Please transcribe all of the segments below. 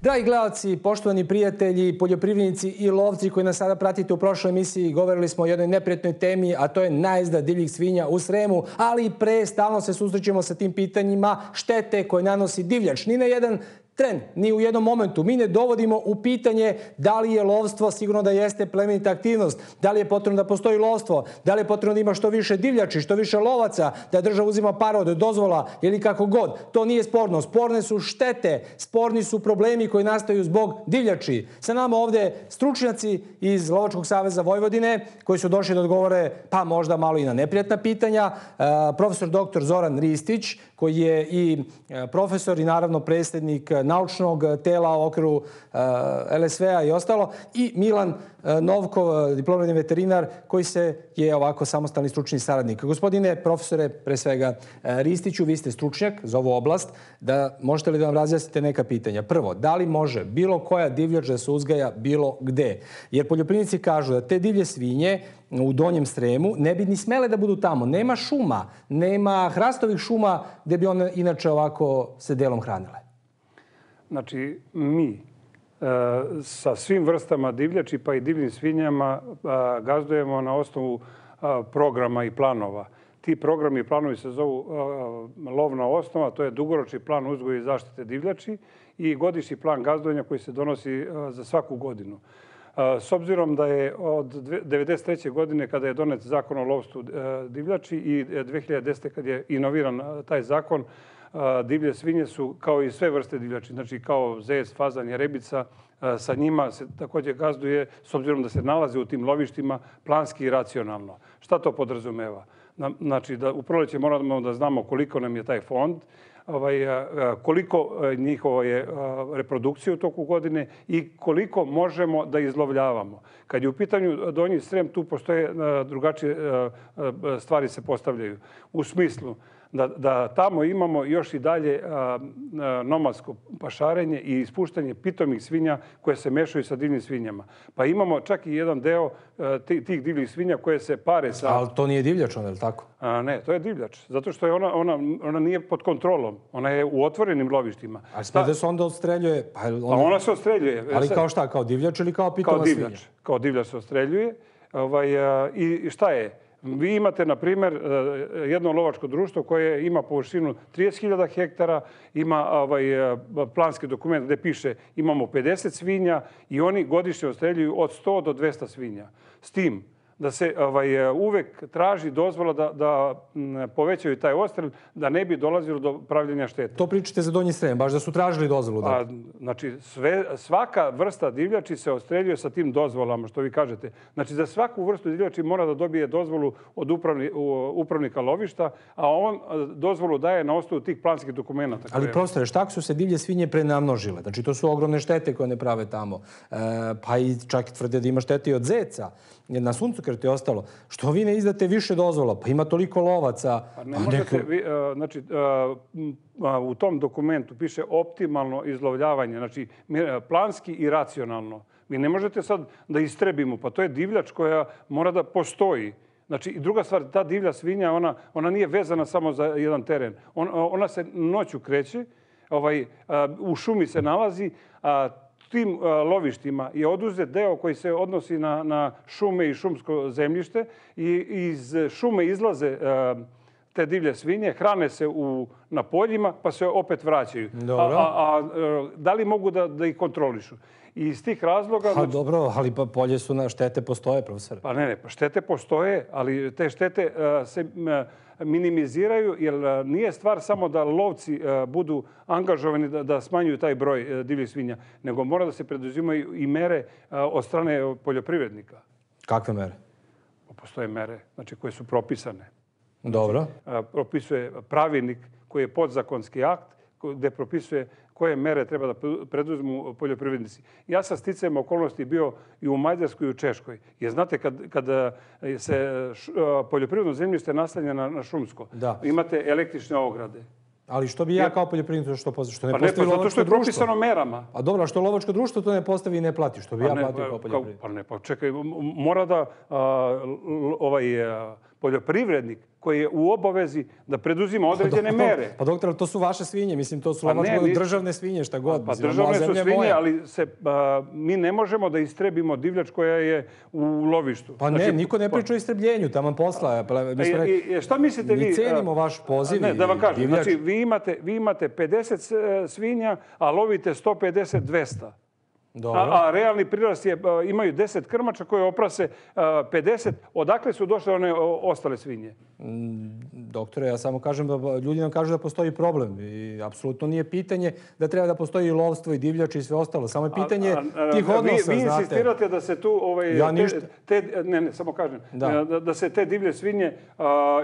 Dragi gledalci, poštovani prijatelji, poljoprivrednici i lovci koji nas sada pratite u prošloj emisiji, govorili smo o jednoj neprijatnoj temi, a to je najezda divljih svinja u Sremu, ali pre stalno se susrećemo sa tim pitanjima štete koje nanosi divljač. Ni na jedan tren, ni u jednom momentu. Mi ne dovodimo u pitanje da li je lovstvo, sigurno da jeste plemenita aktivnost, da li je potrebno da postoji lovstvo, da li je potrebno da ima što više divljači, što više lovaca, da država uzima pare od dozvola ili kako god. To nije sporno. Sporne su štete, sporni su problemi koji nastaju zbog divljači. Sa nama ovde stručnjaci iz Lovačkog saveza Vojvodine koji su došli da odgovore pa možda malo i na neprijatna pitanja. Profesor dr. Zoran Ristić koji je i profesor i naravno predsjednik naučnog tela u okviru LSV-a i ostalo, i Milan Novkov, diplomirani veterinar koji je ovako samostalni stručni saradnik. Gospodine profesore, pre svega Ristiću, vi ste stručnjak za ovu oblast, možete li da nam razjasnite neka pitanja? Prvo, da li može bilo koja divljač da se uzgaja bilo gde? Jer poljoprivrednici kažu da te divlje svinje u Donjem Sremu ne bi ni smele da budu tamo. Nema šuma, nema hrastovih šuma gde bi one inače ovako se delom hranile. Znači, mi sa svim vrstama divljači pa i divljim svinjama gazdujemo na osnovu programa i planova. Ti programi i planovi se zovu lovna osnova, to je dugoročni plan uzgoja i zaštite divljači i godišnji plan gazdovanja koji se donosi za svaku godinu. S obzirom da je od 1993. godine kada je donet zakon o lovstvu divljači i 2010. kad je inoviran taj zakon, divlje svinje su kao i sve vrste divljači, znači kao zec, fazan, jerebica, sa njima se također gazduje, s obzirom da se nalaze u tim lovištima, planski i racionalno. Šta to podrazumeva? Znači da u proleće moramo da znamo koliko nam je taj fond, koliko njihovo je reprodukcije u toku godine i koliko možemo da izlovljavamo. Kad je u pitanju Donji Srem, tu postoje drugačije stvari se postavljaju. U smislu da tamo imamo još i dalje nomadsko pašarenje i ispuštanje pitomih svinja koje se mešaju sa divljim svinjama. Pa imamo čak i jedan deo tih divljih svinja koje se pare sa... Ali to nije divljač, je li tako? Ne, to je divljač. Zato što je ona nije pod kontrolom. Ona je u otvorenim lovištima. Ali smije da se onda odstreljuje? Pa ona se odstreljuje. Ali kao šta? Kao divljač ili kao pitoma svinja? Kao divljač se odstreljuje. I šta je? Vi imate, na primjer, jedno lovačko društvo koje ima površinu 30.000 hektara, ima planski dokument gdje piše imamo 50 svinja i oni godišnje odstreljuju od 100 do 200 svinja. S tim da se uvek traži dozvola da povećaju taj odstrel, da ne bi dolazilo do pravljenja štete. To pričate za Donji Srem, baš da su tražili dozvolu? Znači, svaka vrsta divljači se odstreljuje sa tim dozvolama, što vi kažete. Znači, za svaku vrstu divljači mora da dobije dozvolu od upravnika lovišta, a on dozvolu daje na osnovu tih planskih dokumenta. Ali profesore, šta ako su se divlje svinje prenamnožile? Znači, to su ogromne štete koje ne prave tamo. Pa i čak tvrde da ima štete i od zeca. Na suncokrtu je ostalo. Što vi ne izdate više dozvola? Pa ima toliko lovaca. Ne možete, znači, u tom dokumentu piše optimalno izlovljavanje, znači planski i racionalno. Vi ne možete sad da istrebimo, pa to je divljač koja mora da postoji. Znači, i druga stvar, ta divlja svinja, ona nije vezana samo za jedan teren. Ona se noću kreće, u šumi se nalazi, tim lovištima je oduzet deo koji se odnosi na šume i šumsko zemljište i iz šume izlaze te divlje svinje, hrane se na poljima pa se opet vraćaju. Da li mogu da ih kontrolišu? I iz tih razloga... Dobro, ali polje su na štete postoje, profesor. Pa ne, štete postoje, ali te štete se minimiziraju, jer nije stvar samo da lovci budu angažovani da smanjuju taj broj divljih svinja, nego mora da se preduzimaju i mere od strane poljoprivrednika. Kakve mere? Postoje mere, znači koje su propisane. Dobro. Propisuje pravilnik koji je podzakonski akt gdje propisuje koje mere treba da preduzmu poljoprivrednici. Ja sam sticajem okolnosti bio i u Mađarskoj i u Češkoj. Jer znate, kad se poljoprivredno zemljište naslanja na šumsko, imate električne ograde. Ali što bi ja kao poljoprivrednik što ne postavi lovačko društvo? Zato što je propisano merama. A dobro, a što lovačko društvo to ne postavi i ne plati? Što bi ja platio kao poljoprivrednik? Pa ne, pa čekaj, mora da poljoprivrednik koji je u obavezi da preduzima određene mere. Pa doktor, to su vaše svinje, mislim, to su lovačke državne svinje, šta god. Pa državne su svinje, ali mi ne možemo da istrebimo divljač koja je u lovištu. Pa ne, niko ne priča o istrebljenju, taman posla. Šta mislite vi? Mi cenimo vaš poziv. Ne, da vam kažem, znači vi imate 50 svinja, a lovite 150-200. A realni prirast je, imaju 10 krmača koje oprase 50. Odakle su došle one ostale svinje? Doktore, ja samo kažem da ljudi nam kažu da postoji problem. I apsolutno nije pitanje da treba da postoji i lovstvo i divljač i sve ostalo. Samo je pitanje tih odnosa, vi insistirate da se tu... Ne, samo kažem. Da se te divlje svinje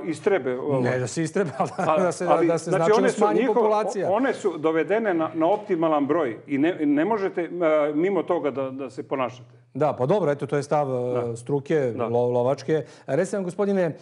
istrebe. Ne, da se istrebe, ali da se značajno smanji populacija. One su dovedene na optimalan broj i ne možete mimo toga da se ponašate. Da, pa dobro, eto, to je stav struke, lovačke. Recite nam, gospodine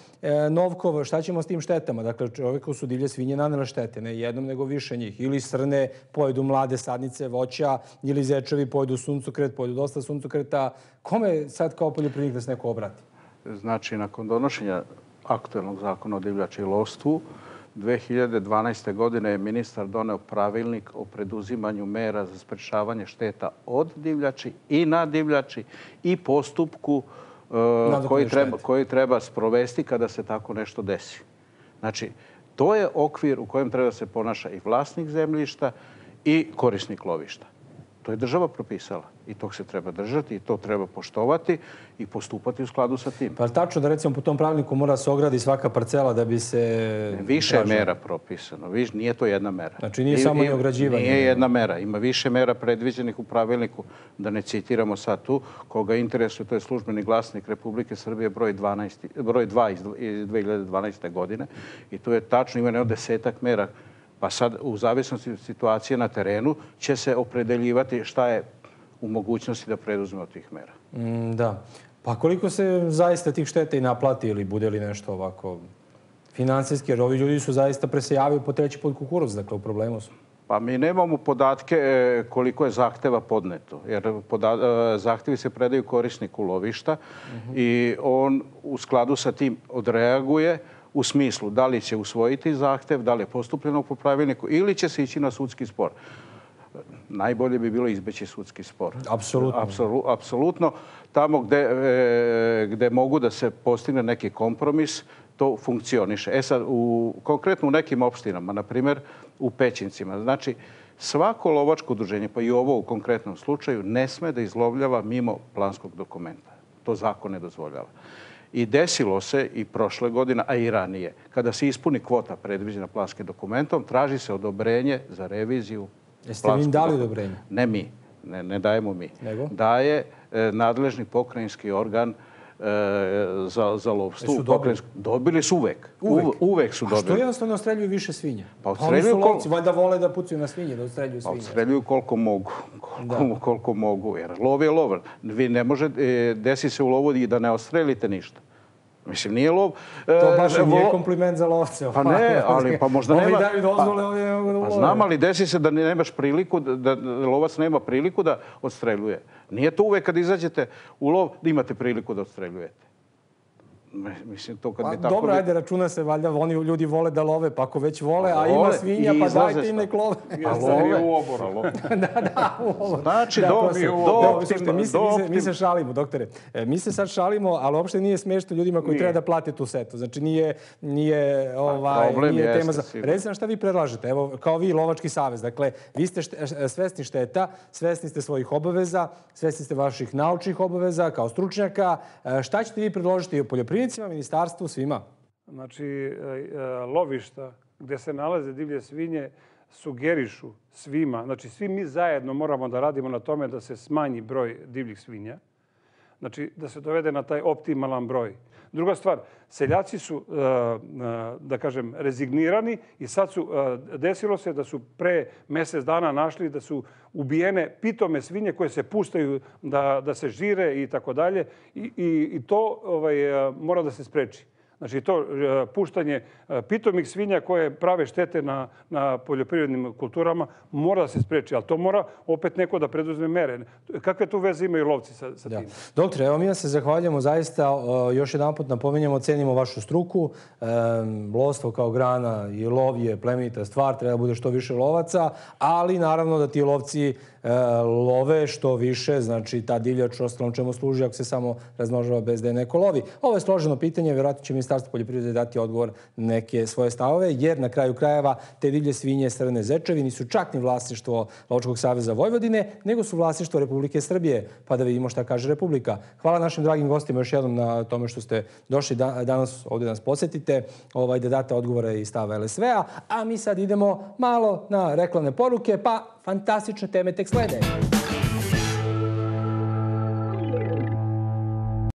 Novkov, šta ćemo s tim štetama? Dakle, čovjeku su divlje svinje nanele štete, ne jednom, nego više njih. Ili srne pojedu mlade sadnice voća, ili zečevi pojedu suncokret, pojedu dosta suncokreta. Kome sad kao poljoprivrednik da se neko obrati? Znači, nakon donošenja aktuelnog zakona o divljači i lovstvu, 2012. godine je ministar doneo pravilnik o preduzimanju mera za sprečavanje šteta od divljači i na divljači i postupku koji treba sprovesti kada se tako nešto desi. Znači, to je okvir u kojem treba se ponaša i vlasnik zemljišta i korisnik lovišta. To je država propisala i tog se treba držati i to treba poštovati i postupati u skladu sa tim. Pa tačno da recimo po tom pravilniku mora se ogradi svaka parcela da bi se... Više je mera propisano. Nije to jedna mera. Znači nije samo i ograđivanje. Nije jedna mera. Ima više mera predviđenih u pravilniku. Da ne citiramo sad tu. Koga interesuje, to je službeni glasnik Republike Srbije broj 2 iz 2012. godine. I tu je tačno, ima jedno 10-ak mera. Pa sad, u zavisnosti od situacije na terenu, će se opredeljivati šta je u mogućnosti da preduzme od tih mera. Da. Pa koliko se zaista tih šteta i naplati ili bude li nešto ovako financijski? Jer ovi ljudi su zaista presejavaju po treći put kukuruz, dakle u problemu su. Pa mi nemamo podatke koliko je zahteva podneto. Jer zahtjevi se predaju korisniku lovišta i on u skladu sa tim odreaguje u smislu da li će usvojiti zahtev, da li je postupljeno po pravilniku ili će se ići na sudski spor. Najbolje bi bilo izbeći sudski spor. Apsolutno. Tamo gde mogu da se postigne neki kompromis, to funkcioniše. E sad, konkretno u nekim opštinama, na primjer u Pećincima, znači svako lovačko udruženje, pa i ovo u konkretnom slučaju, ne sme da izlovljava mimo planskog dokumenta. To zakon ne dozvoljava. I desilo se i prošle godine, a i ranije, kada se ispuni kvota predviđena planskim dokumentom, traži se odobrenje za reviziju. Jeste vi im dali odobrenje? Ne mi, ne dajemo mi. Nego? Daje nadležni pokrajinski organ za lovstvo. Dobili su uvek. Uvek su dobili. A što jednostavno odstreljuju više svinja? Pa oni su lovci, valjda vole da pucaju na svinje, da odstreljuju svinje. Pa odstreljuju koliko mogu. Koliko mogu, jer lov je lov. Vi ne može, desi se u lovu i da ne odstrelite ništa. Mislim, nije lov... To baš nije kompliment za lovce. Pa ne, ali pa možda nema... Ovi daju dozvole, ovi ne mogu da ulove. Pa znam, ali desi se da nemaš priliku, da lovac nema priliku da odstreljuje. Nije to uvek kad izađete u lov da imate priliku da odstreljujete. Mislim, to kad bi tako... Dobro, ajde, računa se, valjda, oni ljudi vole da love, pa ako već vole, a ima svinja, pa dajte im nek love. Pa love u oboru. Da, u oboru. Znači, mi se šalimo, doktore. Mi se sad šalimo, ali uopšte nije smešno ljudima koji treba da plate tu setu. Znači, nije tema za... Recite nam šta vi predlažete. Evo, kao vi, Lovački savez. Dakle, vi ste svesni šteta, svesni ste svojih obaveza, svesni ste vaših naučnih obaveza kao stručnjaka. Šta ćete vi predložiti poljoprivrednicima, ministarstvu, svima? Znači, lovišta gdje se nalaze divlje svinje sugerišu svima. Znači, svi mi zajedno moramo da radimo na tome da se smanji broj divljih svinja. Znači, da se dovede na taj optimalan broj. Druga stvar, seljaci su, da kažem, rezignirani i sad su, desilo se da su pre mjesec dana našli da su ubijene pitome svinje koje se puštaju da se žire i tako dalje. I to mora da se spreči. Znači to puštanje pitomih svinja koje prave štete na poljoprivrednim kulturama mora da se spreči, ali to mora opet neko da preduzme mere. Kakve tu veze imaju lovci sa tim? Doktore, evo mi vam se zahvaljujemo zaista. Još jedan put napominjemo, cenimo vašu struku. Lovstvo kao grana i lov je plemenita stvar, treba da bude što više lovaca, ali naravno da ti lovci love što više, znači ta divljač ostalom čemu služi ako se samo razmnožava bez da je neko lovi. Ovo je složeno pitanje, vjerojatno će Ministarstvo poljoprivrede dati odgovor na neke svoje stavove, jer na kraju krajeva te divlje svinje, crne zečevi nisu čak ni vlasništvo Lovačkog saveza Vojvodine, nego su vlasništvo Republike Srbije, pa da vidimo šta kaže Republika. Hvala našim dragim gostima još jednom na tome što ste došli danas ovdje da nas posjetite, da date odgovore i stava LSV-a, a mi sad idemo malo na reklamne poruke, pa fantastične teme tek slede.